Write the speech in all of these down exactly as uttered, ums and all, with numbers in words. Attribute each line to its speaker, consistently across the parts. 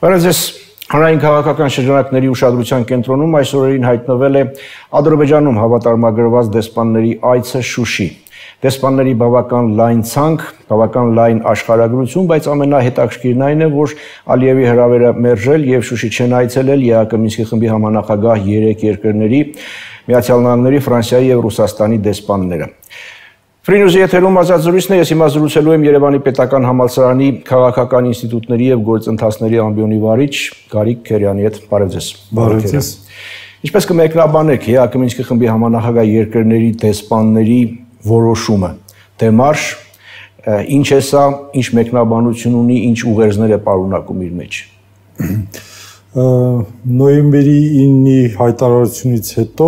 Speaker 1: Բարեձեզ հանրային քաղաքական շրջանակների ուշադրության կենտրոնում այս օրերին հայտնվել է Ադրբեջանում հավատարմագրված դեսպանների այցը Շուշի։ Դեսպանների բավական լայն ցանկ, բավական լայն աշխարհագրություն, բայց ամենահետաքրքիրն այն է, որ Ալիևի հրավերը մերժել եւ Շուշի չեն այցելել ԵԱԿ Մինսկի խմբի համանախագահ երեք երկրների՝ Միացյալ Նահանգների, Ֆրանսիայի եւ Ռուսաստանի դեսպանները։ Ֆրինյուզի եթերում ազատ զրույցն է, ես հիմա զրուցելու եմ Երևանի պետական համալսարանի քաղաքական ինստիտուտների եւ գործընթացների ամբիոնի վարիչ Գարիկ Քերյանի հետ։ Բարև ձեզ։
Speaker 2: Բարև ձեզ։
Speaker 1: Ինչպես կմեկնաբանեք ԵԱԿ Մինսկի խմբի համանախագահ երկրների դեսպանների որոշումը, դեմարշ, ինչ է սա, ինչ մեկնաբանություն ունի, ինչ ուղերձներ է պարունակում իր մեջ։
Speaker 2: Նոյեմբերի ինի հայտարարությունից հետո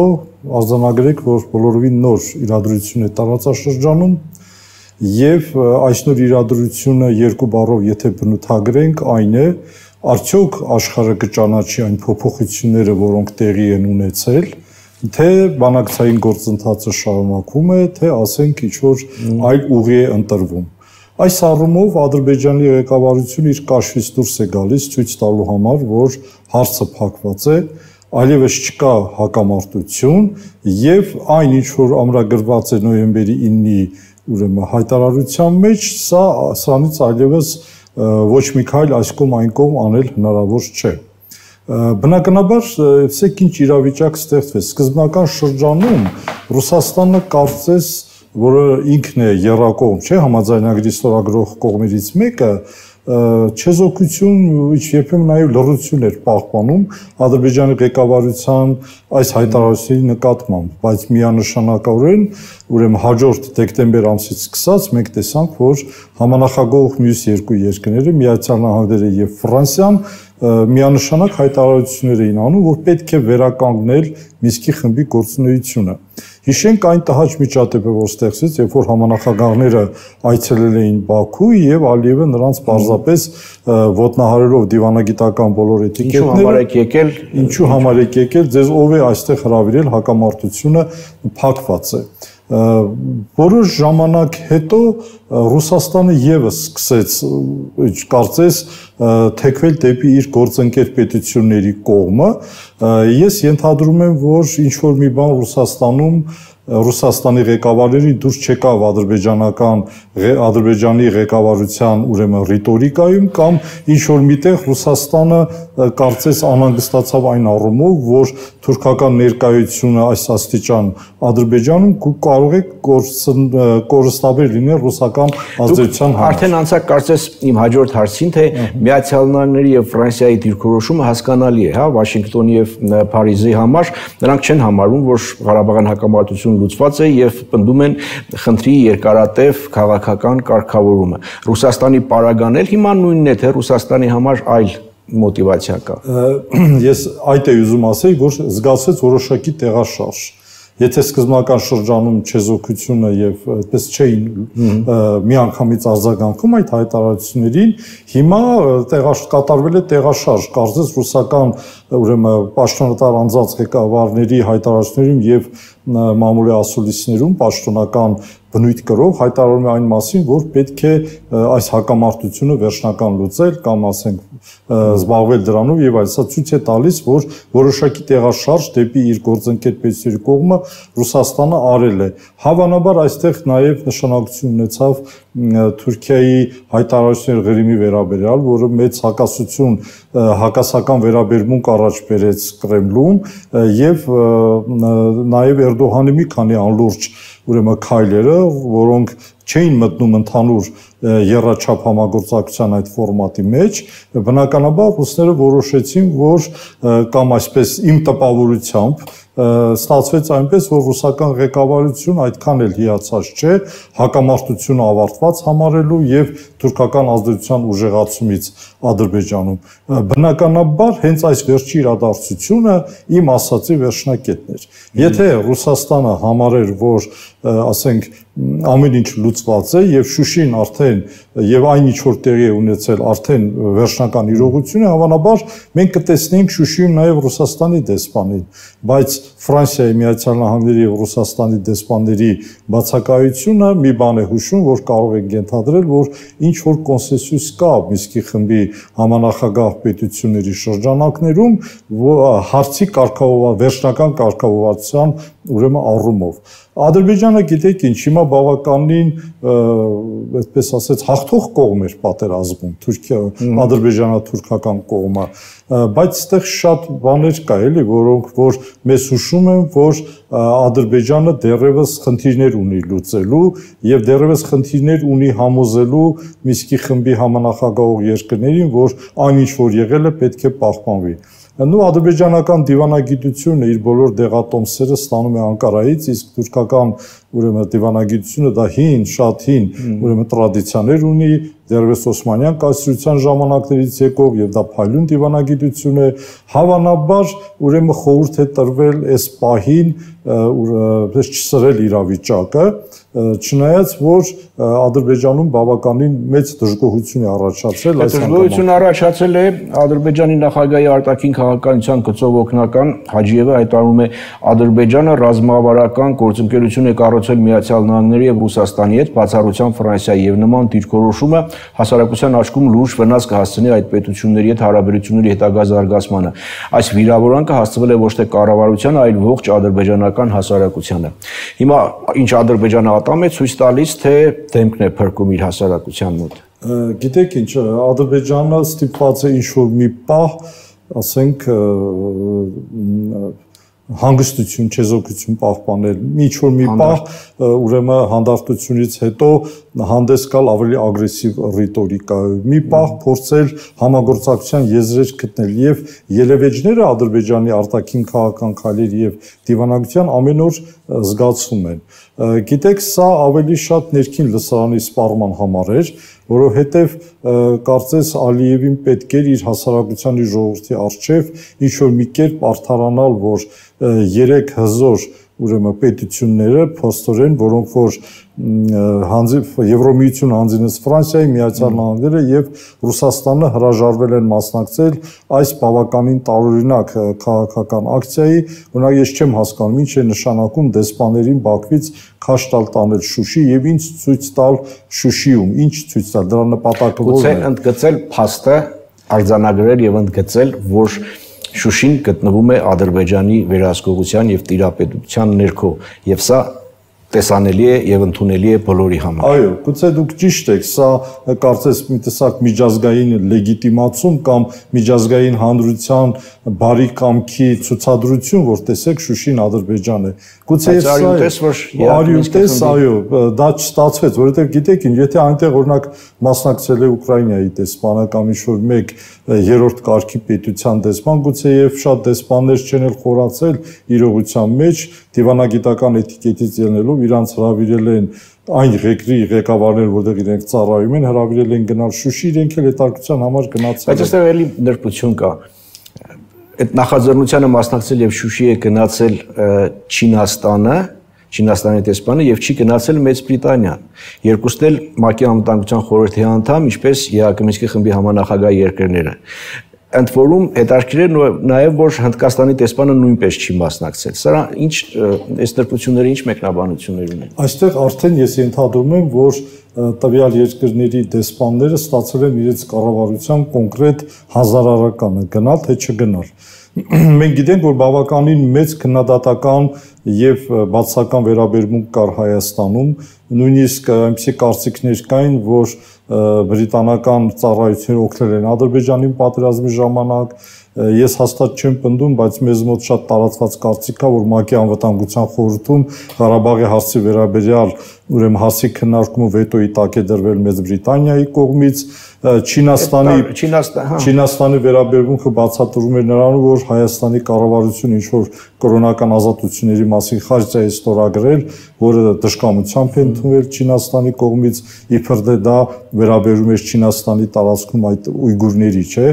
Speaker 2: արձանագրեք, որ բոլորովին նոր իրադրություն է տարածաշրջանում եւ այս նոր իրադրությունը երկու բառով եթե բնութագրենք, այն է արդյոք աշխարհը կճանաչի այն փոփոխությունները, որոնք տեղի են ունեցել, թե բանակցային գործընթացը շարունակվում է, թե ասենք ինչ-որ այլ ուղի է ընտրվում։ Այս առումով Ադրբեջանի ղեկավարությունը իր կաշվից դուրս է գալիս ցույց տալու համար, որ հարցը փակված է, այլևս չկա հակամարտություն եւ այն ինչ որ ամրագրված է նոյեմբերի ինի ուրեմն հայտարարության մեջ, սա սրանից այլևս ոչ մի քայլ այս կողմ այն կողմ անել հնարավոր չէ։ Բնականաբար, ասեք ինչ իրավիճակ ստեղծվեց։ Սկզբնական շրջանում Ռուսաստանը կարծես որը ինքն է եռակողմ, չէ, համաձայնագրի ստորագրող կողմերից մեկը, չեզոքություն, երբեմն նաև լռություն էր պահպանում Ադրբեջանի ղեկավարության այս հայտարարությունների նկատմամբ, բայց միանշանակորեն, ուրեմն հաջորդ դեկտեմբեր ամսից սկսած մենք տեսանք, որ համանախագահող մյուս երկու երկրները, Միացյալ Նահանգները եւ Ֆրանսիան, միանշանակ հայտարարություններ էին անում, որ պետք է վերականգնել Մինսկի խմբի գործունեությունը։ Հիշենք այն տհաճ միջադեպը, որ ստեղծվեց, երբ որ համանախագահները այցելել էին Բաքու եւ Ալիևը նրանց պարզապես ոտնահարելով դիվանագիտական բոլոր էտիկետները, ինչու համար եք եկել, ձեզ ով է այստեղ հրավիրել, հակամարտությունը փակված է։ Որոշ ժամանակ հետո Ռուսաստանը եւս սկսեց, կարծես, թեքվել դեպի իր գործընկեր պետությունների կողմը։ Ես ենթադրում եմ, որ ինչ որ մի բան Ռուսաստանում Ռուսաստանի ղեկավարների դուրս չեկավ ադրբեջանական Ադրբեջանի ղեկավարության ուրեմն ռիտորիկայում կամ ինչ որ միտեղ Ռուսաստանը կարծես անհանգստացավ այն առումով, որ թուրքական ներկայությունը այս աստիճան Ադրբեջանում կարող է կորստաբեր լինել ռուսական ազդեցության համար։
Speaker 1: Արդեն անցակ կարծես իմ հաջորդ հարցին, թե Միացյալ Նահանգների եւ Ֆրանսիայի դիրքորոշումը հասկանալի է, հա, Վաշինգտոնի եւ Փարիզի համար, նրանք չեն համարում, որ Ղարաբաղյան հակամարտություն լուծված է եւ պնդում են խնդրի երկարատև քաղաքական կարգավորումը։ Ռուսաստանի պարագանել հիմա նույնն է, թե Ռուսաստանի համար այլ մոտիվացիա կա։
Speaker 2: Ես այդ էի ուզում ասել, որ զգացվեց որոշակի տեղաշարժ։ Եթե սկզբնական շրջանում չեզոքությունը եւ այդպես չէին միանգամից արձագանքում այդ հայտարարություններին, հիմա կատարվել է տեղաշարժ, կարծես ռուսական ուրեմն պաշտոնատար անձանց ղեկավարների հայտարարություններում եւ մամուլի ասուլիսներում պաշտոնական բնույթ կրող հայտարարում է այն մասին, որ պետք է այս հակամարտությունը վերջնական լուծել կամ ասենք զբաղվել դրանով եւ այլ, սա ցույց է տալիս, որ որոշակի տեղաշարժ դեպի իր գործընկեր պետությունների կողմը Ռուսաստանը արել է։ Հավանաբար այստեղ նաեւ նշանակություն ունեցավ Թուրքիայի հայտարարությունների Ղրիմի վերաբերյալ, որը մեծ հակասություն, հակասական վերաբերմունք առաջ բերեց Կրեմլում եւ նաեւ Էրդողանի մի քանի անլուրջ ուրեմն քայլերը, որոնք չէին մտնում ընդհանուր եռաչափ համագործակցության այդ ֆորմատի մեջ, բնականաբար ռուսները որոշեցին, որ կամ այսպես իմ տպավորությամբ ստացվեց այնպես, որ ռուսական ղեկավարությունը այդքան էլ հիացած չէ հակամարտությունը ավարտված համարելու եւ թուրքական ազդեցության ուժեղացումից Ադրբեջանում։ Բնականաբար հենց այս վերջի իրադարձությունը իմ ասացի վերջնակետն էր։ Եթե Ռուսաստանը համարեր, որ ասենք ամեն ինչ լուծված է եւ Շուշին արդեն եւ այն ինչ որ տեղի է ունեցել արդեն վերջնական իրողություն է, հավանաբար մենք կտեսնենք Շուշիում նաեւ Ռուսաստանի դեսպանին, բայց Ֆրանսիայի Միացյալ Նահանգների եւ Ռուսաստանի դեսպանների բացակայությունը մի բան է հուշում, որ կարող եք ենթադրել, որ ինչ որ կոնսենսուս կա Մինսկի խմբի համանախագահ պետությունների շրջանակներում հարցի կարգավորման վերջնական կարգավորվածության ուրեմն առումով Ադրբեջանը գիտեք ինչ հիմա բավականին այդպես ասած հաղթող կողմ էր պատերազմում Թուրքիա ադրբեջանա-թուրքական կողմը բայց այդտեղ շատ բաներ կա էլի որոնք որ մեզ հուշում են որ Ադրբեջանը դեռևս խնդիրներ ունի լուծելու եւ դեռևս խնդիրներ ունի համոզելու Մինսկի խմբի համանախագահող երկրներին որ այն ինչ որ եղել է պետք է պահպանվի Նու ադրբեջանական դիվանագիտությունը իր բոլոր դեղատոմսերը ստանում է Անկարայից, իսկ թուրքական ուրեմն դիվանագիտությունը դա հին, շատ հին ուրեմն տրադիցիաներ ունի, դեռևս Օսմանյան կայսրության ժամանակներից եկող եւ դա փայլուն դիվանագիտություն է, հավանաբար ուրեմն խորհուրդ է տրվել այս պահին ուրեմն չսրել իրավիճակը, չնայած որ Ադրբեջանում բավականին մեծ դժգոհություն է առաջացել
Speaker 1: այս դժգոհությունը առաջացել է Ադրբեջանի նախագահի արտաքին քաղաքականության գծով օգնական Հաջիևը հայտարարում է Ադրբեջանը ռազմավարական գործընկերություն է կառուցել Միացյալ Նահանգների եւ Ռուսաստանի հետ բացառությամբ Ֆրանսիայի եւ նման դիրքորոշումը հասարակության աչքում լուրջ վնաս կհասցնի այդ պետությունների հետ հարաբերությունների հետագա զարգացմանը այս վիրավորանքը հասցվել է ոչ թե կառավարությանը այլ ողջ ադրբեջանական հասարակությանը հիմա ինչ Ադրբեջանը ատամ է ցույց տալիս թե դեմքն է փրկում իր հասարակության մոտ
Speaker 2: գիտեք ինչ Ադրբեջանը ստիպված է ինչ որ մի պահ ասենք հանգստություն, չեզոքություն պահպանել, ինչ որ մի պահ ուրեմն հանդարտությունից հետո հանդես գալ ավելի ագրեսիվ ռիտորիկայով, մի պահ փորձել համագործակցության եզրեր գտնել եւ ելևէջները Ադրբեջանի արտաքին քաղաքական քայլերի եւ դիվանագիտության ամեն օր զգացվում են։ Գիտեք, սա ավելի շատ ներքին լսարանի սպառման համար էր, որովհետև կարծես Ալիևին պետք էր իր հասարակության իր ժողովրդի առջև ինչ որ մի կերպ արդարանալ, որ երեք հզոր ուրեմն պետությունները փոստորեն, որոնք որ Եվրոմիություն հանձինեց Ֆրանսիայի, Միացյալ Նահանգները եւ Ռուսաստանը հրաժարվել են մասնակցել այս բավականին տարօրինակ քաղաքական ակցիայի, օրինակ ես չեմ հասկանում ինչ է նշանակում դեսպաներին Բաքվից քաշ տալ տանել Շուշի եւ ինչ ցույց տալ Շուշիում, ինչ ցույց տալ, դրա նպատակը ո՞րն է։
Speaker 1: Գուցե ընդգծել փաստը, արձանագրել եւ ընդգծել, որ Շուշին գտնվում է Ադրբեջանի վերահսկողության եւ տիրապետության ներքո եւ սա տեսանելի է եւ ընդունելի է բոլորի համար։
Speaker 2: Այո, գուցե դուք ճիշտ եք, սա կարծես մի տեսակ միջազգային լեգիտիմացում կամ միջազգային հանրության բարի կամքի ցուցադրություն, որ տեսեք Շուշին Ադրբեջան է։ Գուցե եւ սա արյունտես, այո, դա չստացվեց, որովհետեւ գիտեք ինչ, եթե այնտեղ օրինակ մասնակցել է Ուկրաինայի դեսպանը կամ ինչ-որ մեկ երրորդ կարգի պետության դեսպան, գուցե եւ շատ դեսպաններ չեն էլ խորացել իրողության մեջ դիվանագիտական էտիկետից ելնելով իրանց հրավիրել են այն ղեկրի ղեկավարներ, որտեղ իրենք ծառայում են, հրավիրել են գնալ Շուշի, իրենք էլ հետարկության համար գնացել են։
Speaker 1: Բայց այստեղ էլի նրբություն կա։ Այդ նախաձեռնությանը մասնակցել եւ Շուշի է գնացել Չինաստանը, Չինաստանի դեսպանը եւ չի գնացել Մեծ Բրիտանիան։ Երկուսն էլ ՄԱԿ-ի անվտանգության խորհրդի անդամ, ինչպես ԵԱՀԿ Մինսկի խմբի համանախագահ երկրները։ Ընդ որում հետաքրքիր է նաև որ Հնդկաստանի դեսպանը նույնպես չի մասնակցել։ Սրա ինչ այս նրբությունները ինչ մեկնաբանություններ ունեն։
Speaker 2: Այստեղ արդեն ես ենթադրում եմ, որ տվյալ երկրների դեսպանները ստացել են իրենց կառավարության կոնկրետ հազարարականը գնալ թե չգնալ։ Մենք գիտենք, որ բավականին մեծ քննադատական եւ բացական վերաբերմունք կար Հայաստանում, նույնիսկ այնպիսի կարծիքներ կային, որ բրիտանական ծառայությունները օգնել են Ադրբեջանին պատերազմի ժամանակ, ես հաստատ չեմ պնդում, բայց մեզ մոտ շատ տարածված կարծիք կա, որ ՄԱԿ-ի անվտանգության խորհրդում Ղարաբաղի հարցի վերաբերյալ ուրեմն հասցի քննարկումը վետոյի տակ է դրվել Մեծ Բրիտանիայի կողմից, Չինաստանի Չինաստանի վերաբերմունքը բացատրում էր նրանով, որ Հայաստանի կառավարությունը ինչ որ կրոնական ազատությունների մասին խաղ է ստորագրել, որը դժկամությամբ է ընդունվել Չինաստանի կողմից, իբր դե դա վերաբերում էր Չինաստանի տարածքում այդ ույգուրների, չէ,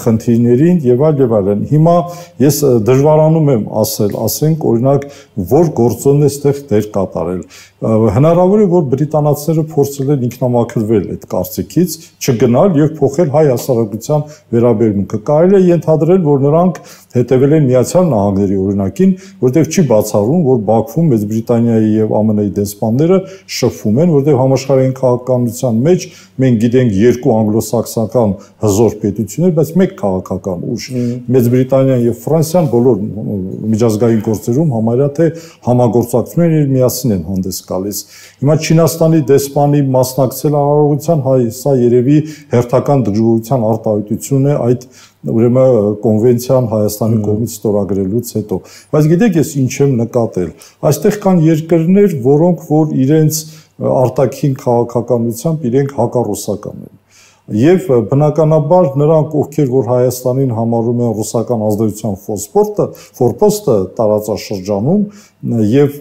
Speaker 2: խնդիրներին եւ այլ եւ այլն։ Հիմա ես դժվարանում եմ ասել, ասենք օրինակ, որ գործոնն է այդտեղ դեր կատարել։ Հնարավոր է, որ բրիտանացիները փորձել են ինքնամաքրվել այդ կարծիքից, չգնալ եւ փոխել հայ հասարակության վերաբերմունքը։ Կարելի է ենթադրել, որ նրանք հետևել են Միացյալ Նահանգների օրինակին, որտեղ չի բացառում, որ Բաքվում Մեծ Բրիտանիայի եւ ԱՄՆ -ի դեսպանները շփվում են, որտեղ համաշխարհային քաղաքականության մեջ մենք գիտենք երկու անգլոսաքսոնական հզոր պետություններ, բայց մեկ քաղաքական ուժ։ Մեծ Բրիտանիան եւ Ֆրանսիան բոլոր միջազգային գործերում համարյա թե համագործակցում են եւ միասին են հանդես գալիս։ Հիմա Չինաստանի դեսպանի մասնակցել արարողության հայ, սա երևի հերթական դժգոհության արտահայտություն է այդ ուրեմն կոնվենցիան Հայաստանի կողմից ստորագրելուց հետո։ Բայց գիտեք ես ինչ եմ նկատել։ Այստեղ կան երկրներ, որոնք որ իրենց արտաքին քաղաքականությամբ իրենք հակառուսական են։ Եվ բնականաբար նրանք, ովքեր որ Հայաստանին համարում են ռուսական ազդեցության ֆորպոստը, ֆորպոստը տարածաշրջանում եւ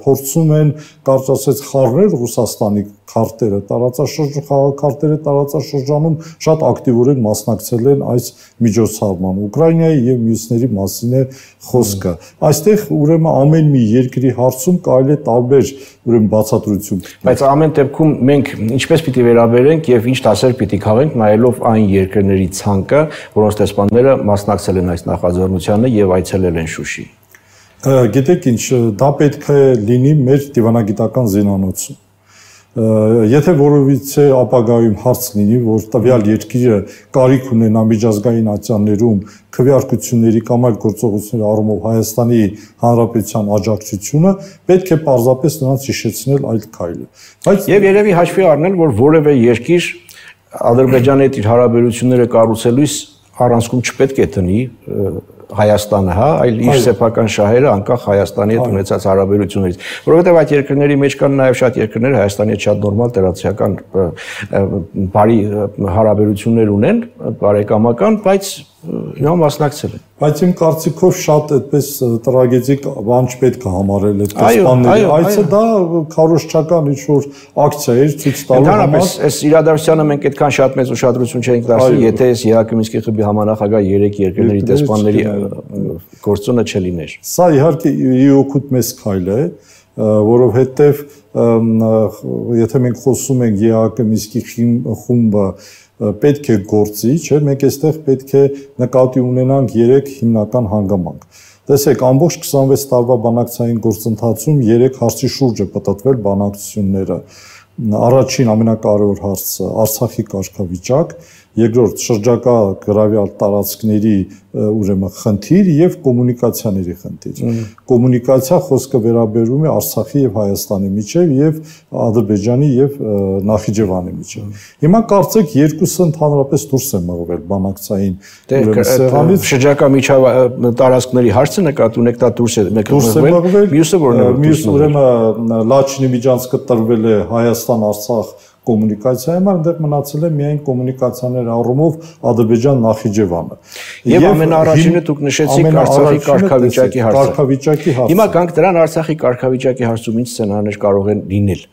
Speaker 2: փորձում են կարծես ասած խառնել Ռուսաստանի քարտերը տարածաշրջան խաղաքարտերը տարածաշրջանում շատ ակտիվորեն մասնակցել են այս միջոցառման Ուկրաինայի եւ մյուսների մասին է խոսքը։ Այստեղ ուրեմն ամեն մի երկրի հարցում կարելի է տարբեր ուրեմն բացատրություն։
Speaker 1: Բայց ամեն դեպքում մենք ինչպես պիտի վերաբերենք եւ ինչ դասեր պիտի քաղենք նայելով այն երկրների ցանկը, որոնց դեսպանները մասնակցել են այս նախաձեռնությանը եւ այցելել են Շուշի։
Speaker 2: Գիտեք ինչ, դա պետք է լինի մեր դիվանագիտական զինանոցում։ Եթե որովիցե ապագայում հարց լինի, որ տվյալ երկիրը կարիք ունենա միջազգային ատյաններում քվեարկությունների կամ այլ գործողությունների առումով Հայաստանի Հանրապետության աջակցությունը, պետք է պարզապես նրանց հիշեցնել այդ քայլը։ Բայց
Speaker 1: եւ երևի հաշվի առնել, որ որևէ երկիր Ադրբեջանի հետ իր հարաբերությունները կառուցելուց առանցքում չպետք է տնի Հայաստանը, հա, այլ իր սեփական շահերը անկախ Հայաստանի հետ ունեցած հարաբերություններից, որովհետև այդ երկրների մեջ կան նաև շատ երկրներ Հայաստանի հետ շատ նորմալ տերացիական բարի հարաբերություններ ունեն, բարեկամական, բայց նա մասնակցել են։
Speaker 2: Բայց իմ կարծիքով շատ այդպես տրագեդիկ բան չպետք է համարել այդ դեսպանների այցը, դա քարոզչական ինչ-որ ակցիա էր ցույց տալու համար։
Speaker 1: Ընդհանրապես այս իրադարձությանը մենք այդքան շատ մեծ ուշադրություն չենք դարձրել, եթե այս ԵԱՀԿ Մինսկի խմբի համանախագահ երեք երկրների դեսպանների գործոնը չլիներ։
Speaker 2: Սա իհարկե ի օգուտ մեծ քայլ է, որովհետև եթե մենք խոսում ենք ԵԱՀԿ Մինսկի խումբը պետք է գործի, չէ, մենք այստեղ պետք է նկատի ունենանք երեք հիմնական հանգամանք։ Տեսեք, ամբողջ քսանվեց տարվա բանակցային գործընթացում երեք հարցի շուրջ է պատտվել բանակցությունները։ Առաջին ամենակարևոր հարցը Արցախի կարգավիճակ, երկրորդ շրջակա գրավյալ տարածքների ուրեմն խնդիր եւ կոմունիկացիաների խնդիր։ Կոմունիկացիա խոսքը վերաբերում է Արցախի եւ Հայաստանի միջեւ եւ Ադրբեջանի եւ Նախիջևանի միջեւ։ Հիմա կարծեք երկուսը ընդհանրապես դուրս է մղվել բանակցային ուրեմն սեղանից։
Speaker 1: Շրջակա միջավ տարածքների հարցը նկատի ունեք, դա դուրս է մղվել։ Մյուսը որն է։
Speaker 2: Մյուս ուրեմն Լաչինի միջանցքը տրվել է Հայաստան-Արցախ կոմունիկացիա համար, այնտեղ մնացել է միայն կոմունիկացիաների առումով Ադրբեջան-Նախիջևանը։
Speaker 1: Եվ ամենաառաջինը դուք նշեցիք Արցախի կարգավիճակի հարցը։
Speaker 2: Կարգավիճակի հարցը։
Speaker 1: Հիմա գանք դրան Արցախի կարգավիճակի հարցում ինչ սցենարներ կարող են լինել։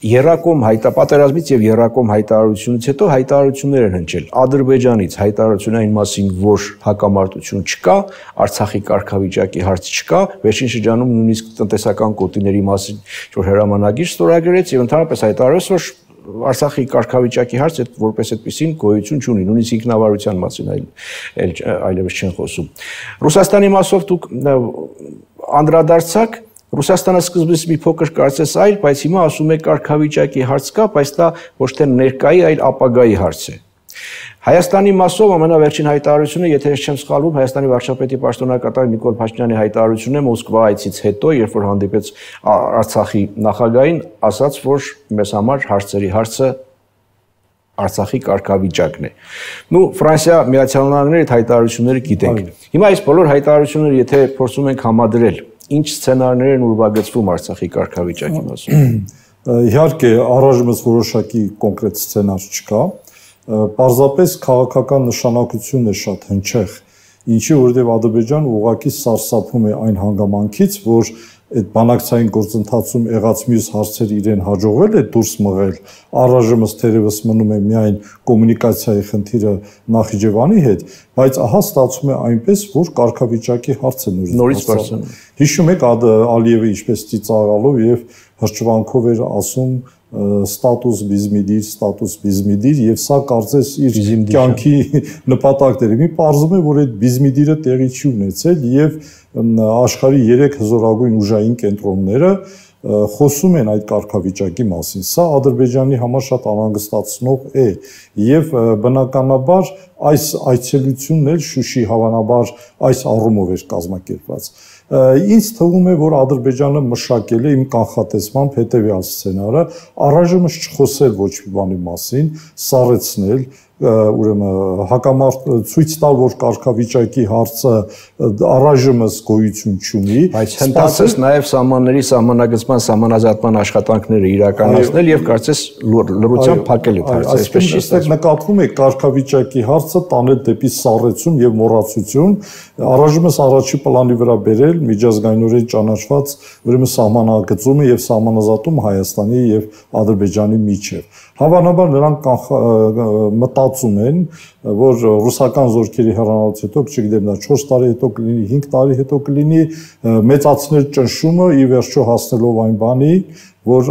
Speaker 1: Երակոմ հայտապատերազմից եւ երակոմ հայտարարությունից հետո հայտարարություններ են հնչել Ադրբեջանից հայտարարություն այն մասին, որ հակամարտություն չկա, Արցախի կարգավիճակի հարց չկա, վերջին շրջանում նույնիսկ տնտեսական կոտիների մասին որ հրամանագիր ստորագրեց եւ ընդհանրապես հայտարարեց, որ Արցախի կարգավիճակի հարցը որպես այդպեսին գոյություն չունի, նույնիսկ ինքնավարության մասին այլ այլևս չեն խոսում։ Ռուսաստանի մասով դուք անդրադարձաք Ռուսաստանը սկզբից մի փոքր կարծես այլ, բայց հիմա ասում է կարգավիճակի հարց կա, բայց դա ոչ թե ներկայի, այլ ապագայի հարց է։ Հայաստանի մասով ամենավերջին հայտարարությունը, եթե ես չեմ սխալվում, Հայաստանի վարչապետի պաշտոնակատար Նիկոլ Փաշինյանի հայտարարությունն է Մոսկվա այցից հետո, երբ որ հանդիպեց Արցախի նախագահին, ասաց, որ մեզ համար հարցերի հարցը Արցախի կարգավիճակն է։ Նու Ֆրանսիա Միացյալ Նահանգների հայտարարությունները գիտենք։ Հիմա այս բոլոր հայտարարությունները եթե փորձում ենք համադրել, ինչ սցենարներ են ուրվագծվում Արցախի կարգավիճակի մասին։
Speaker 2: Իհարկե, առայժմս որոշակի կոնկրետ սցենար չկա, պարզապես քաղաքական նշանակությունն է շատ հնչեղ, ինչի որովհետև Ադրբեջանը ուղղակի սարսափում է այն հանգամանքից, որ այդ բանակցային գործընթացում եղած մյուս հարցեր իրեն հաջողվել է դուրս մղել, առայժմս թերևս մնում է միայն կոմունիկացիայի խնդիրը Նախիջևանի հետ, բայց ահա ստացվում է այնպես, որ կարգավիճակի հարցը
Speaker 1: նորից բարձրանում։
Speaker 2: Հիշում եք Ալիևը ինչպես ծիծաղալով եւ հրճվանքով էր ասում ստատուս բիզմիդիր, ստատուս բիզմիդիր եւ սա կարծես իր կյանքի նպատակն էր։ Մի պարզվում է, որ այդ բիզմիդիրը տեղի չի ունեցել եւ աշխարհի երեք հզորագույն ուժային կենտրոնները խոսում են այդ կարգավիճակի մասին։ Սա Ադրբեջանի համար շատ անհանգստացնող է եւ բնականաբար այս այցելությունն էլ Շուշի հավանաբար այս առումով էր կազմակերպված։ Ինձ թվում է, որ Ադրբեջանը մշակել է իմ կանխատեսմամբ հետեւյալ սցենարը, առայժմս չխոսել ոչ մի բանի մասին, սառեցնել, ուրեմն հակամարտ ցույց տալ, որ կարգավիճակի հարցը առայժմս գոյություն չունի,
Speaker 1: բայց հնդածես նաև սահմանների սահմանագծման սահմանազատման աշխատանքները իրականացնել եւ կարծես լրությամբ փակել այդ հարցը, այսպես չի
Speaker 2: ստացվում։ Նկատվում է կարգավիճակի հարցը տանել դեպի սառեցում եւ մոռացություն, առայժմս առաջի պլանի վրա բերել միջազգայինորեն ճանաչված ուրեմն սահմանագծումը եւ սահմանազատումը Հայաստանի եւ Ադրբեջանի միջեւ։ Հավանաբար նրանք մտածում են, որ ռուսական զորքերի հեռանալուց հետո, չգիտեմ, դա չորս տարի հետո կլինի, հինգ տարի հետո կլինի, մեծացնել ճնշումը ի վերջո հասնելով այն բանի, որ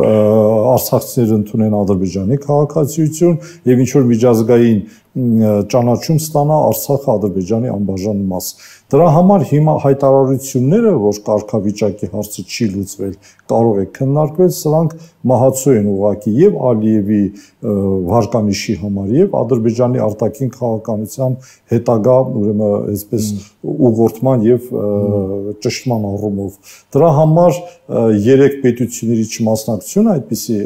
Speaker 2: արցախցիները ընդունեն Ադրբեջանի քաղաքացիություն եւ ինչ որ միջազգային ճանաչում ստանա Արցախը Ադրբեջանի անբաժան մաս։ Դրա համար հիմա հայտարարությունները, որ կարգավիճակի հարցը չի լուծվել, կարող է քննարկվել, սրանք մահացու են ուղղակի եւ Ալիևի վարկանիշի համար եւ Ադրբեջանի արտաքին քաղաքականության հետագա ուրեմն այսպես ուղղորդման եւ ճշտման առումով։ Դրա համար երեք պետությունների չմասնակցությունը այդպիսի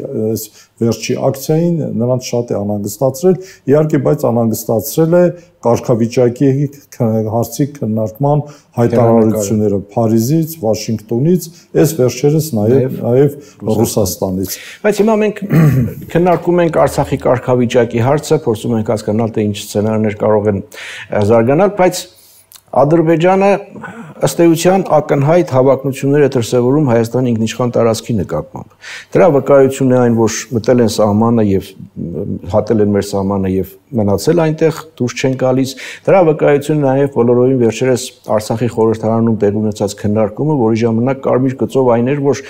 Speaker 2: վերջի ակցիային նրանց շատ է անհանգստացրել, իհարկե, բայց անհանգստացրել է կարգավիճակի հարցի քննարկման հայտարարությունները Փարիզից, Վաշինգտոնից, այս վերջերս նաև նաև Ռուսաստանից։
Speaker 1: Բայց հիմա մենք քննարկում ենք Արցախի կարգավիճակի հարցը, փորձում ենք հասկանալ, թե ինչ սցենարներ կարող են զարգանալ, բայց Ադրբեջանը ըստ էության ակնհայտ հավակնություններ է դրսևորում Հայաստանի ինքնիշխան տարածքի նկատմամբ։ Դրա վկայությունն է այն, որ մտել են սահմանը եւ հատել են մեր սահմանը եւ մնացել այնտեղ, դուրս չեն գալիս։ Դրա վկայությունն է նաեւ բոլորովին վերջերս Արցախի խորհրդարանում տեղ ունեցած քննարկումը, որի ժամանակ կարմիր գծով այն էր, որ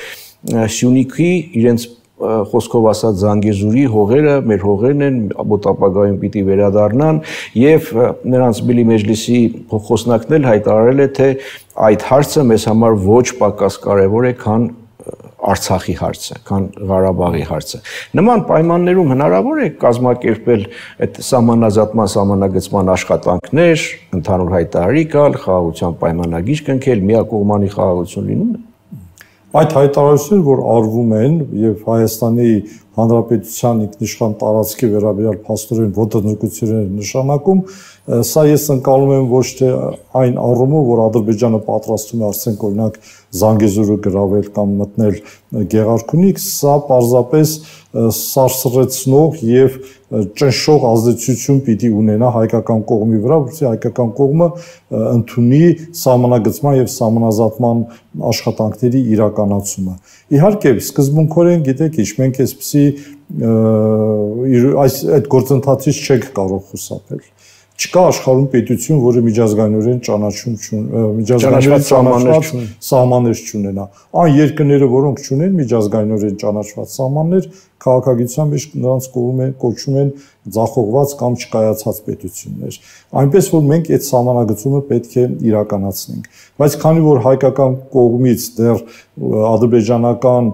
Speaker 1: Սյունիքի իրենց խոսքով ասած Զանգեզուրի հողերը, մեր հողերն են, մոտ ապագայում պիտի վերադառնան եւ նրանց Բիլի Մեջլիսի խոսնակն էլ հայտարարել է, թե այդ հարցը մեզ համար ոչ պակաս կարեւոր է, քան Արցախի հարցը, քան Ղարաբաղի հարցը։ Նման պայմաններում հնարավոր է կազմակերպել այդ սահմանազատման սահմանագծման աշխատանքներ, ընդհանուր հայտարարի գալ, խաղաղության պայմանագիր կնքել, միակողմանի խաղաղություն լինում է։
Speaker 2: Այդ հայտարարությունները, որ արվում են եւ Հայաստանի Հանրապետության ինքնիշխան տարածքի վերաբերյալ փաստորեն ոտնձգություններ նշանակում, սա ես ընկալում եմ ոչ թե այն առումով, որ Ադրբեջանը պատրաստում է արդեն օրինակ Զանգեզուրը գրավել կամ մտնել Գեղարքունիք, սա պարզապես սարսռեցնող եւ ճնշող ազդեցություն պիտի ունենա հայկական կողմի վրա, որովհետեւ հայկական կողմը ընդունի սահմանագծման եւ սահմանազատման աշխատանքների իրականացումը։ Իհարկե, սկզբունքորեն գիտեք, ինչ մենք այսպեսի այս այդ գործընթացից չենք կարող խուսափել։ Չկա աշխարհում պետություն, որը միջազգայինորեն ճանաչում միջազգայինորեն ճանաչված սահմաններ չունենա։ Այն երկրները, որոնք չունեն միջազգայինորեն ճանաչված սահմաններ, քաղաքագիտության մեջ նրանց կողմում են կոչում են ձախողված կամ չկայացած պետություններ։ Այնպես որ մենք այդ սահմանագծումը պետք է իրականացնենք։ Բայց քանի որ հայկական կողմից դեռ ադրբեջանական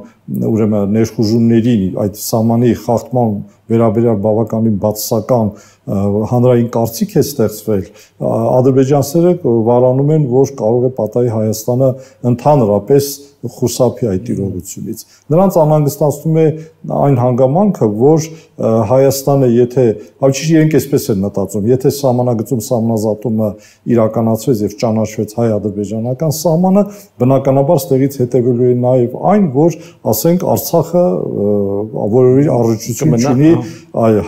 Speaker 2: ուրեմն ներխուժումների այդ սահմանի խախտման վերաբերյալ բավականին բացասական հանրային կարծիք է ստեղծվել, ադրբեջանցիները վարանում են, որ կարող է պատահի Հայաստանը ընդհանրապես խուսափի այդ իրողությունից։ Նրանց անհանգստացնում է այն հանգամանքը, որ Հայաստանը, եթե, ավելի իրենք այսպես են մտածում, եթե սահմանագծում սահմանազատումը իրականացվեց եւ ճանաչվեց հայ-ադրբեջանական սահմանը, բնականաբար ստեղից հետևելու է նաեւ այն, որ ասենք Արցախը որևէ առնչություն չունի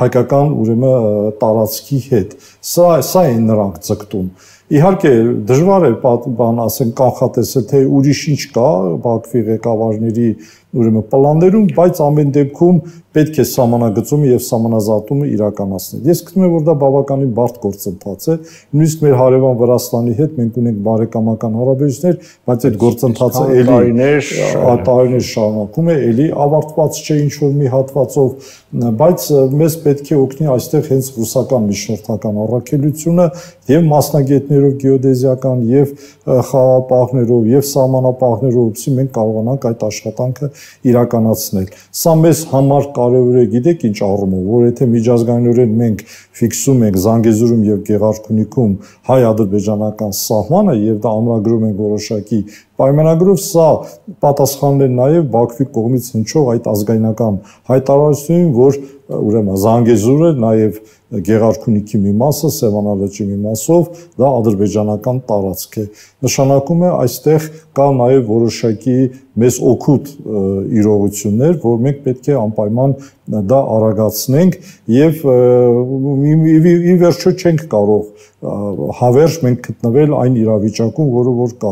Speaker 2: հայկական ուրեմն տարածքի հետ։ Սա սա են նրանք ձգտում։ Իհարկե դժվար է բան ասենք կանխատեսել, թե ուրիշ ինչ կա Բաքվի ղեկավարների ուրեմն պլաններում, բայց ամեն դեպքում պետք է սահմանագծումը եւ սահմանազատումը իրականացնել։ Ես գտնում եմ, որ դա բավականին բարդ գործընթաց է, նույնիսկ մեր հարևան Վրաստանի հետ մենք ունենք բարեկամական հարաբերություններ, բայց այդ գործընթացը էլի տարիներ շարունակում է, էլի ավարտված չէ ինչ-որ մի հատվածով, բայց մեզ պետք է օգնի այստեղ հենց ռուսական միջնորդական առաքելությունը եւ մասնագետներով գեոդեզիական եւ խաղապահներով եւ սահմանապահներով, որպեսզի մենք կարողանանք այդ աշխատանքը իրականացնել։ Սա մեզ համար կարևոր է, գիտեք ինչ առումով, որ եթե միջազգայինորեն մենք ֆիքսում ենք Զանգեզուրում եւ Գեղարքունիքում հայ-ադրբեջանական սահմանը եւ դա ամրագրում ենք որոշակի պայմանագրով, սա պատասխանն է նաեւ Բաքվի կողմից հնչող այդ ազգայնական հայտարարությունին, որ ուրեմն Զանգեզուրը նաեւ Գեղարքունիքի մի մասը, Սևանալճի մի մասով դա ադրբեջանական տարածք է։ Նշանակում է այստեղ կա նաև որոշակի մեզ օգուտ իրողություններ, որ մենք պետք է անպայման դա արագացնենք եւ ի վերջո չենք կարող հավերժ մենք գտնվել այն իրավիճակում, որը որ կա։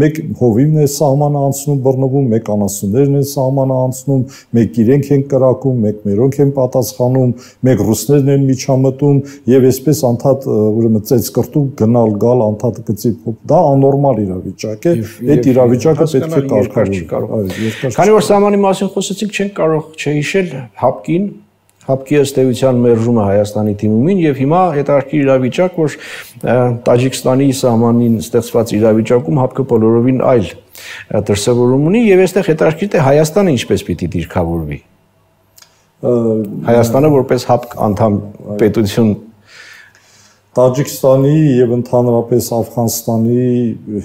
Speaker 2: Մեկ հովիվն է սահմանը անցնում բռնվում, մեկ անասուններն են սահմանը անցնում, մեկ իրենք են կրակում, մեկ մերոնք են պատասխանում, մեկ ռուսներն են միջամտում եւ այսպես անդադ ուրեմն ծեծ կրտու գնալ գալ անդադ գծի դա աննորմալ իրավիճակ է։ Այդ իրավիճակը պետք է կարգավորվի։
Speaker 1: Քանի որ սահմանի մասին խոսեցինք, չենք կարող չհիշել հապկին, հապկի ըստ էության մերժումը Հայաստանի թիմումին եւ հիմա հետարքիր իրավիճակ, որ Տաջիկստանի սահմանին ստեղծված իրավիճակում հապկը բոլորովին այլ դրսևորում ունի եւ այստեղ հետարքիր թե Հայաստանը ինչպես պիտի դիրքավորվի։ Հայաստանը որպես հապկ անդամ պետություն
Speaker 2: Տաջիկստանի եւ ընդհանրապես Աֆղանստանի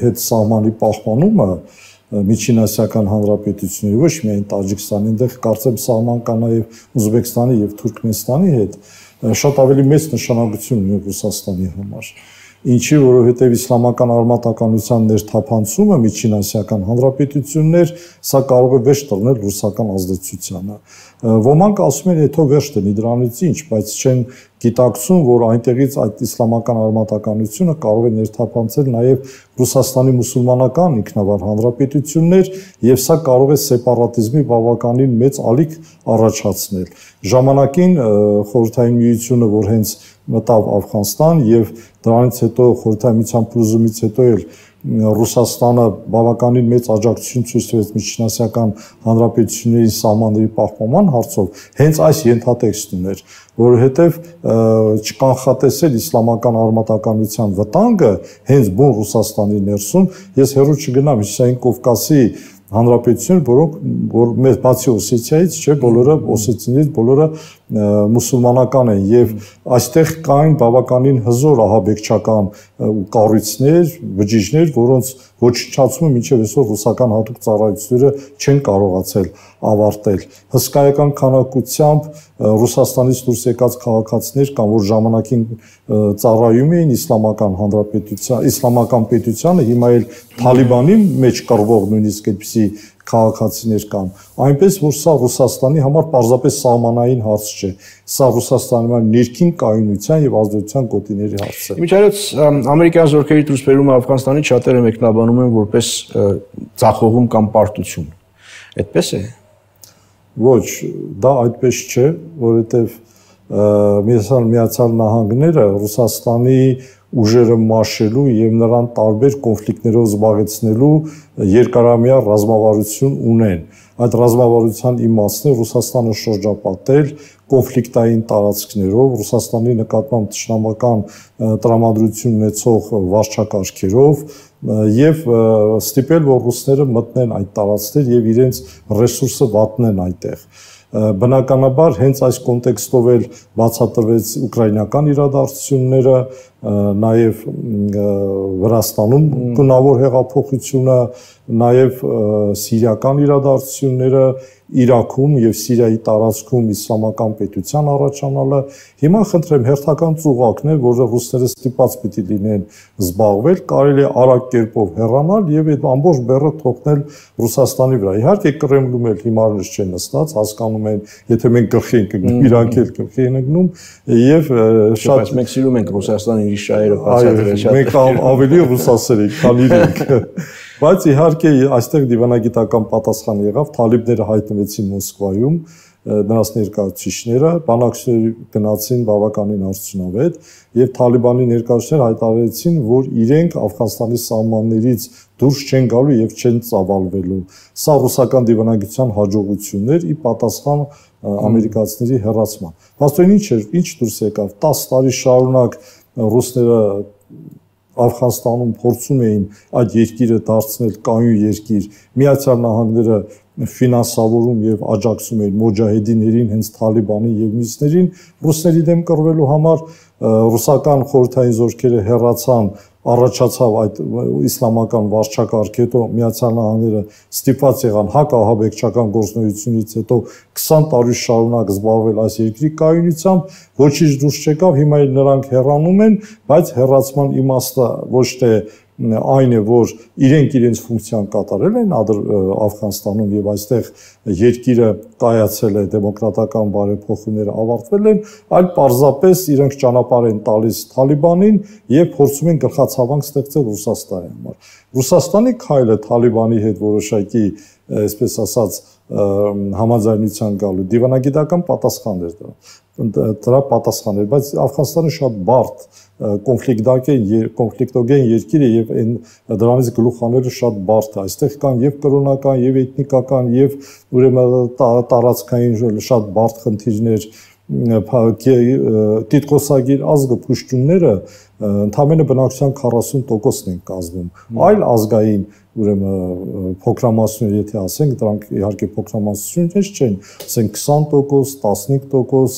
Speaker 2: հետ սահմանի պահպանումը միջինասիական հանրապետությունների ոչ միայն Տաջիկստանի, այնտեղ կարծեմ սահման կա նաև Ուզբեկստանի եւ Թուրքմենստանի հետ, շատ ավելի մեծ նշանակություն ունի Ռուսաստանի համար։ Ինչի, որովհետև իսլամական արմատականության ներթափանցումը միջինասիական հանրապետություններ, սա կարող է վերջ տրնել ռուսական ազդեցությանը։ Ոմանք ասում են, հետո վերջ տնի դրանից ինչ, բայց չեն գիտակցում, որ այնտեղից այդ իսլամական արմատականությունը կարող է ներթափանցել նաև Ռուսաստանի մուսուլմանական ինքնավար հանրապետություններ եւ սա կարող է սեպարատիզմի բավականին մեծ ալիք առաջացնել։ Ժամանակին Խորհրդային Միությունը, որ հենց մտավ Աֆղանստան եւ դրանից հետո Խորհրդային Միության փլուզումից հետո էլ Ռուսաստանը բավականին մեծ աջակցություն ցույց տվեց միջինասիական հանրապետությունների սահմանների պահպանման հարցով, հենց այս ենթատեքստն էր, որովհետև չկանխատեսել իսլամական արմատականության վտանգը հենց բուն Ռուսաստանի ներսում, ես հեռու չգնամ Հյուսիսային Կովկասի հանրապետություն, որոնք որ մեծ բացի Օսեթիայից, չէ, բոլորը օսեթիներից բոլորը մուսուլմանական են եւ այստեղ կային բավականին հզոր ահաբեկչական կառույցներ, բջիջներ, որոնց ոչնչացումը մինչև այսօր ռուսական հատուկ ծառայությունները չեն կարողացել ավարտել։ Հսկայական քանակությամբ Ռուսաստանից դուրս եկած քաղաքացիներ կան, որ ժամանակին ծառայում էին իսլամական հանրապետության, իսլամական պետությանը, հիմա էլ Թալիբանի մեջ կռվող նույնիսկ այդպիսի քաղաքացիներ կան, այնպես որ սա Ռուսաստանի համար պարզապես սահմանային հարց չէ, սա Ռուսաստանի համար ներքին կայունության եւ ազդեցության գոտիների հարց է։
Speaker 1: Իմիջիայլոց ամերիկյան զորքերի դուրսբերումը Աֆղանստանի շատերը մեկնաբանում են որպես ցախողում կամ պարտություն։ Այդպես է։
Speaker 2: Ոչ, դա այդպես չէ, որովհետեւ Միացյալ Նահանգները Ռուսաստանի ուժերը մաշելու եւ նրան տարբեր կոնֆլիկտներով զբաղեցնելու երկարամյա ռազմավարություն ունեն։ Այդ ռազմավարության իմաստն է Ռուսաստանը շրջապատել կոնֆլիկտային տարածքներով, Ռուսաստանի նկատմամբ թշնամական տրամադրություն ունեցող վարչակարգերով եւ ստիպել, որ ռուսները մտնեն այդ տարածքներ եւ իրենց ռեսուրսը վատնեն այդտեղ։ Բնականաբար հենց այս կոնտեքստով էլ բացատրվեց ուկրաինական իրադարձությունները, նաև Վրաստանում գունավոր հեղափոխությունը, նաև սիրիական իրադարձությունները, Իրաքում եւ Սիրիայի տարածքում իսլամական պետության առաջանալը։ Հիմա խնդրեմ հերթական ծուղակն է, որը ռուսները ստիպված պիտի լինեն զբաղվել, կարելի է արագ կերպով հեռանալ եւ այդ ամբողջ բեռը թողնել Ռուսաստանի վրա։ Իհարկե Կրեմլում էլ հիմարներ չեն նստած, հասկանում են, եթե մենք գլխի ենք ընկնում, իրանք էլ գլխի են ընկնում եւ շատ
Speaker 1: մենք սիրում ենք Ռուսաստանի իր շահերը բացատրել շատ։
Speaker 2: Մենք ավելի ռուսասեր ենք, քան իրենք։ Բայց իհարկե այստեղ դիվանագիտական պատասխան եղավ, թալիբները հայտնվեցին Մոսկվայում, նրանց ներկայացուցիչները, բանակցությունների գնացին բավականին արդյունավետ եւ Թալիբանի ներկայացուցիչները հայտարարեցին, որ իրենք Աֆղանստանի սահմաններից դուրս չեն գալու եւ չեն ծավալվելու։ Սա ռուսական դիվանագիտության հաջողություններ ի պատասխան ամերիկացիների հեռացման։ Բացօրին ինչ էր, ինչ դուրս եկավ, տասը տարի շարունակ ռուսները Աֆղանստանում փորձում էին այդ երկիրը դարձնել կայուն երկիր, Միացյալ Նահանգները ֆինանսավորում եւ աջակցում էին մոջահեդիներին, հենց Թալիբանի եւ մյուսներին, ռուսների դեմ կռվելու համար ռուսական խորհրդային զորքերը հեռացան, առաջացավ այդ իսլամական վարչակարգ, հետո Միացյալ Նահանգները ստիպված եղան հակահաբեկչական գործունեությունից հետո քսան տարի շարունակ զբաղվել այս երկրի կայունությամբ, ոչինչ դուրս չեկավ, հիմա էլ նրանք հեռանում են, բայց հեռացման իմաստը ոչ թե այն է, որ իրենք իրենց ֆունկցիան կատարել են Աֆղանստանում եւ այստեղ երկիրը կայացել է, դեմոկրատական բարեփոխումները ավարտվել են, այլ պարզապես իրենք ճանապարհ են տալիս Թալիբանին եւ փորձում են գլխացավանք ստեղծել Ռուսաստանի համար։ Ռուսաստանի քայլը Թալիբանի հետ որոշակի, այսպես ասած, համաձայնության գալու դիվանագիտական պատասխան էր դրա։ Դրա պատասխան էր, բայց Աֆղանստանը շատ բարդ կոնֆլիկտագեն կոնֆլիկտոգեն երկիր է եւ այն դրանից գլուխ հանելը շատ բարդ է։ Այստեղ կան եւ կրոնական, եւ էթնիկական, եւ ուրեմն տարածքային շատ բարդ խնդիրներ, տիտղոսագիր ազգը փուշտունները ընդամենը բնակչության քառասուն տոկոսն են կազմում։ Այլ ազգային ուրեմն փոքրամասնություն, եթե ասենք, դրանք իհարկե փոքրամասնություններ չեն, ասենք քսան տոկոս, տասնհինգ տոկոս,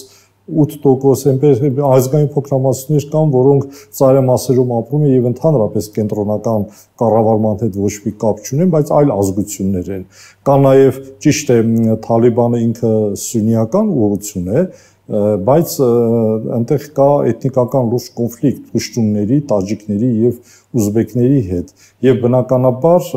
Speaker 2: ութ տոկոս այնպես ազգային փոքրամասնություններ կան, որոնք ծայրամասերում ապրում են եւ ընդհանրապես կենտրոնական կառավարման հետ ոչ մի կապ չունեն, բայց այլ ազգություններ են։ Կա նաեւ ճիշտ է Թալիբանը ինքը սուննիական ուղղություն է, բայց այնտեղ կա էթնիկական լուրջ կոնֆլիկտ պուշտունների, տաջիկների եւ ուզբեկների հետ եւ բնականաբար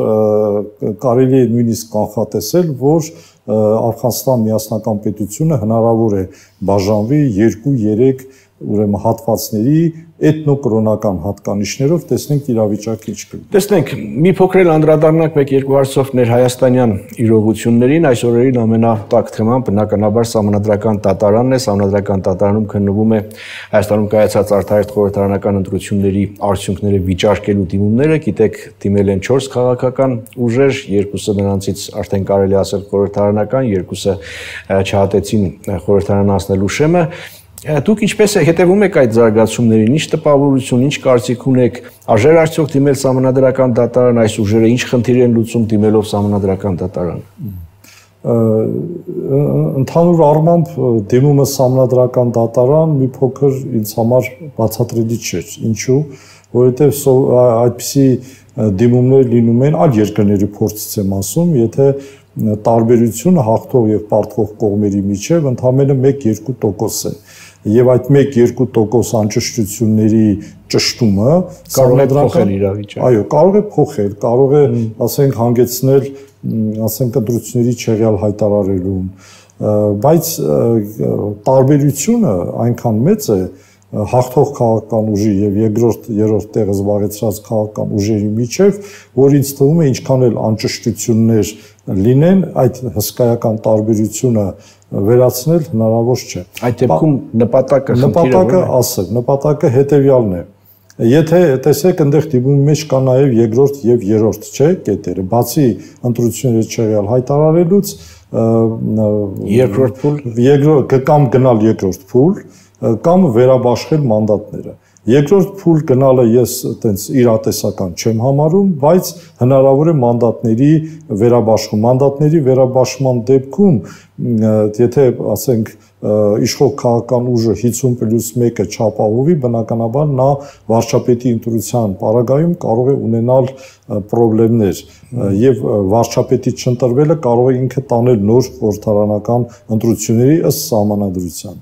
Speaker 2: կարելի է նույնիսկ կանխատեսել, որ Աֆղանստան միասնական պետությունը հնարավոր է բաժանվի երկու երեք ուրեմն հատվածների էթնոկրոնական հատկանիշներով, տեսնենք իրավիճակը ինչ կլինի։
Speaker 1: Տեսնենք, մի փոքր էլ անդրադառնանք մեկ երկու հարցով ներհայաստանյան իրողություններին, այս օրերին ամենատակ թեման բնականաբար սահմանադրական դատարանն է, սահմանադրական դատարանում քննվում է Հայաստանում կայացած արտահերթ խորհրդարանական ընտրությունների արդյունքները վիճարկելու դիմումները, գիտեք, դիմել են չորս քաղաքական ուժեր, երկուսը նրանցից արդեն կարելի ասել խորհրդարանական, երկուսը չհատեցին խորհրդարան անցնելու շեմը։ Դուք ինչպես է հետևում եք այդ զարգացումներին, ինչ տպավորություն, ինչ կարծիք ունեք, արժեր արդյոք դիմել սահմանադրական դատարան, այս ուժերը ինչ խնդիր են լուծում դիմելով սահմանադրական դատարան։
Speaker 2: Ընդհանուր առմամբ դիմումը սահմանադրական դատարան մի փոքր ինձ համար բացատրելի չէր, ինչու, որովհետև այդպիսի դիմումներ լինում են այլ երկրների փորձից եմ ասում, եթե տարբերությունը հաղթող եւ պարտվող կողմերի միջև ընդամենը մեկ-երկու տոկոս է։ Եվ այդ մեկ-երկու տոկոս անճշտությունների ճշտումը
Speaker 1: կարող է փոխել իրավիճակը։
Speaker 2: Այո, կարող է փոխել, կարող է, ասենք, հանգեցնել, ասենք, ընտրությունների չեղյալ հայտարարելուն, բայց տարբերությունը այնքան մեծ է հաղթող քաղաքական ուժի եւ երկրորդ երրորդ տեղը զբաղեցրած քաղաքական ուժերի միջև, որ ինձ թվում է ինչքան էլ անճշտություններ լինեն, այդ հսկայական տարբերությունը վերացնել հնարավոր չէ։
Speaker 1: Այդ դեպքում նպատակը
Speaker 2: նպատակը ասել, նպատակը հետեւյալն է։ Եթե տեսեք, այնտեղ դիմումի մեջ կա նաև երկրորդ եւ երրորդ, չէ, կետերը, բացի ընտրությունները չեղյալ հայտարարելուց,
Speaker 1: երկրորդ փուլ,
Speaker 2: երկրորդ կամ գնալ երկրորդ փուլ, կամ վերաբաշխել մանդատները։ Երկրորդ փուլ գնալը ես այտենց իրատեսական չեմ համարում, բայց հնարավոր է մանդատների վերաբաշխում, մանդատների վերաբաշխման դեպքում, եթե ասենք իշխող քաղաքական ուժը հինգսուն պլյուս մեկը չապահովի, բնականաբար նա վարչապետի ընտրության պարագայում կարող է ունենալ պրոբլեմներ եւ վարչապետի չընտրվելը կարող է ինքը տանել նոր խորհրդարանական ընտրությունների ըստ սահմանադրության։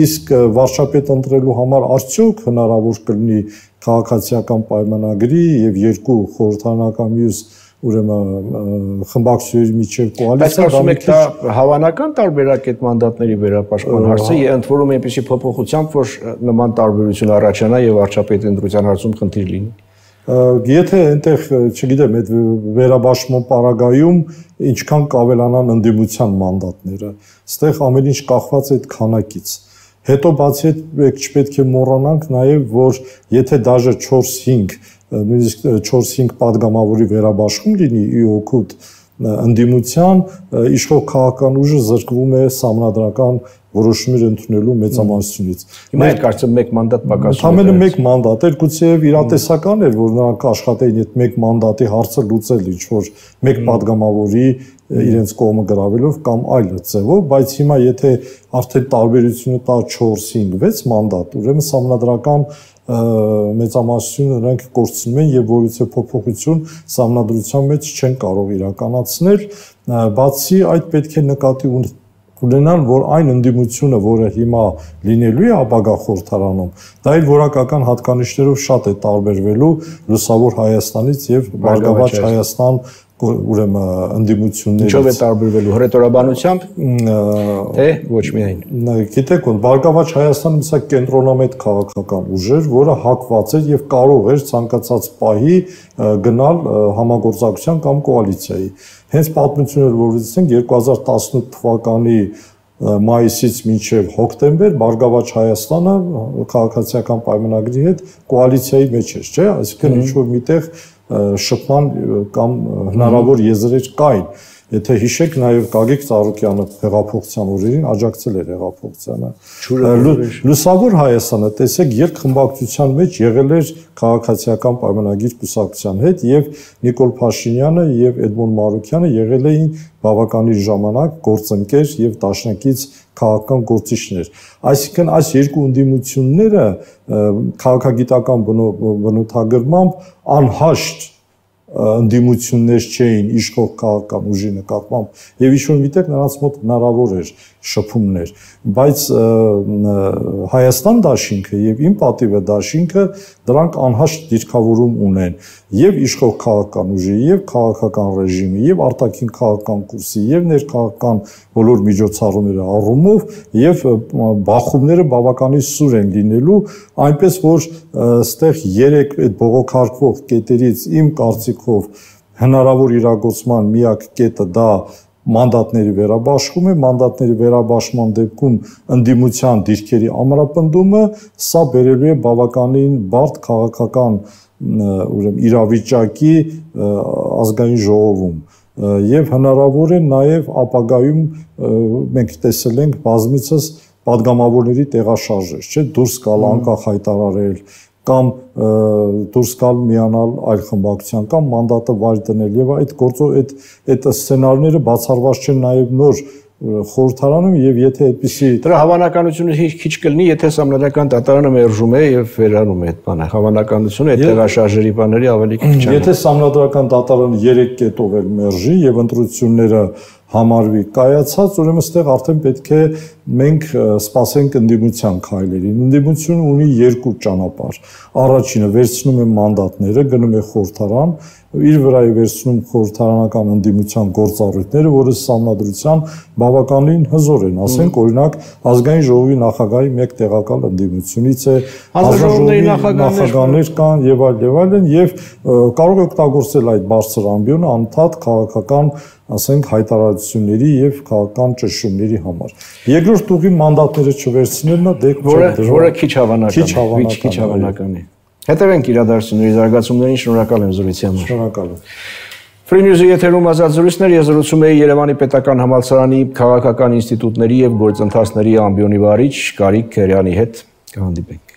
Speaker 2: Իսկ վարչապետ ընտրելու համար արդյոք հնարավոր կլինի քաղաքացիական պայմանագրի եւ երկու խորհրդարանական մյուս ուրեմն խմբակցությունների միջև կոալիցիա
Speaker 1: դա մի քիչ հավանական տարբերակ է մանդատների վերապաշխման հարցը, եւ ընդ որում այնպեսի փոփոխությամբ, որ նման տարբերություն առաջանա եւ վարչապետի ընտրության հարցում խնդիր լինի։
Speaker 2: Եթե այնտեղ, չգիտեմ, այդ վերաբաշխման պարագայում ինչքան կավելանան ընդդիմության մանդատները, այստեղ ամեն ինչ կախված է այդ քանակից։ Հետո բացի այդ չպետք է մոռանանք նաեւ, որ եթե դաժե չորս-հինգ նույնիսկ չորս-հինգ падգամավորի վերաբաշխում լինի ի օգուտ ընդդիմության, իշխող քաղաքական ուժը զրկվում է սահմանադրական որոշումներ ընդունելու մեծամասնությունից։
Speaker 1: Հիմա այդ կարծեմ մեկ մանդատ պակասում է։
Speaker 2: Ընդամենը մեկ մանդատ էր, գուցեև իրատեսական էր, որ նրանք աշխատեին այդ մեկ մանդատի հարցը լուծել ինչ-որ մեկ падգամավորի իրենց կողմը գրավելով կամ այլ ձևով, բայց հիմա եթե արդեն տարբերությունը տա չորս-հինգ վեց մանդատ, ուրեմն սահմանադրական մեծամասնությունը նրանք կորցնում են եւ որից է փոփոխություն սահմանադրության մեջ չեն կարող իրականացնել, բացի այդ պետք է նկատի ունենալ, որ այն ընդդիմությունը, որը հիմա լինելու է ապագա խորհրդարանում, դա իր որակական հատկանիշներով շատ է տարբերվելու Լուսավոր Հայաստանից եւ Բարգավաճ Հայաստան ուրեմն ընդդիմություններից։
Speaker 1: Ինչով է տարբերվելու հռետորաբանությամբ, թե ոչ միայն։
Speaker 2: Գիտեք, Բարգավաճ Հայաստանը սա կենտրոնամետ քաղաքական ուժ էր, որը հակված էր եւ կարող էր ցանկացած պահի գնալ համագործակցության կամ կոալիցիայի։ Հենց պատմությունը, որ վստահենք երկու հազար տասնութ թվականի մայիսից մինչև հոկտեմբեր Բարգավաճ Հայաստանը քաղաքացիական պայմանագրի հետ կոալիցիայի մեջ էր, չէ՞, այսինքն ինչ որ միտեղ շփման կամ հնարավոր եզրեր կային։ Եթե հիշեք, նաև Գագիկ Ծառուկյանը հեղափոխության օրերին աջակցել էր հեղափոխությանը։ Լուսավոր Հայաստանը, տեսեք, երկխմբակցության մեջ եղել էր քաղաքացիական պայմանագիր կուսակցության հետ եւ Նիկոլ Փաշինյանը եւ Էդմոն Մարուկյանը եղել էին բավականին ժամանակ գործընկեր եւ դաշնակից քաղաքական գործիչներ։ Այսինքն այս երկու ընդդիմությունները քաղաքագիտական բնութագրմամբ անհաշտ ընդդիմություններ չէին իշխող քաղաքական ուժի նկատմամբ եւ ինչ-որ միտեղ նրանց մոտ հնարավոր էր շփումներ, բայց Հայաստան դաշինքը եւ իմ պատիվը դաշինքը դրանք անհաշտ դիրքավորում ունեն եւ իշխող քաղաքական ուժի եւ քաղաքական ռեժիմի եւ արտաքին քաղաքական կուրսի եւ ներքաղաքական բոլոր միջոցառումների առումով եւ բախումները բավականին սուր են լինելու, այնպես որ այստեղ երեք այդ բողոքարկվող կետերից իմ կարծիքով հնարավոր իրագործման միակ կետը դա մանդատների վերաբաշխում է, մանդատների վերաբաշխման դեպքում ընդդիմության դիրքերի ամրապնդումը, սա բերելու է բավականին բարդ քաղաքական ուրեմն իրավիճակի ազգային ժողովում եւ հնարավոր է նաեւ ապագայում մենք տեսել ենք բազմիցս падգամավորների տեղաշարժեր, չէ՞, դուրս գալ անկախ հայտարարել կամ դուրս գալ միանալ այլ խմբակցության կամ մանդատը վայր դնել եւ այդ գործը այդ այդ սցենարները բացառված չեն նաեւ նոր խորհրդարանում եւ եթե այդպիսի
Speaker 1: դրա հավանականությունը քիչ կլինի, եթե սահմանադրական դատարանը մերժում է եւ վերանում է այդ բանը, հավանականությունը այդ տեղաշարժերի բաների ավելի քիչ է։
Speaker 2: Եթե սահմանադրական դատարանը երեք կետով էլ մերժի եւ ընտրությունները համարվի կայացած, ուրեմն այստեղ արդեն պետք է մենք սպասենք ընդդիմության քայլերին։ Ընդդիմությունը ունի երկու ճանապարհ։ Առաջինը վերցնում է մանդատները, գնում է խորհրդարան, իր վրա է վերցնում խորհրդարանական ընդդիմության գործառույթները, որը սահմանադրության բավականին հզոր են, ասենք օրինակ ազգային ժողովի նախագահի մեկ տեղակալ ընդդիմությունից է,
Speaker 1: ազգային
Speaker 2: նախագահներ կան եւ այլ եւ այլն եւ կարող է օգտագործել այդ բարձր ամբիոնը անդադ քաղաքական ասենք հայտարարությունների եւ քաղաքական ճնշումների համար։ Երկրորդ ուղին մանդատները չվերցնելն է, դե
Speaker 1: որը քիչ հավանական, քիչ հավանական է։ Հետևենք իրադարձությունների զարգացումներին, շնորհակալ եմ զրույցի համար։
Speaker 2: Շնորհակալ եմ։
Speaker 1: Free News-ի եթերում ազատ զրույցներ, ես զրուցում եի Երևանի պետական համալսարանի քաղաքական ինստիտուտների եւ գործընթացների ամբիոնի վարիչ Գարիկ Քերյանի հետ։ Կհանդիպենք։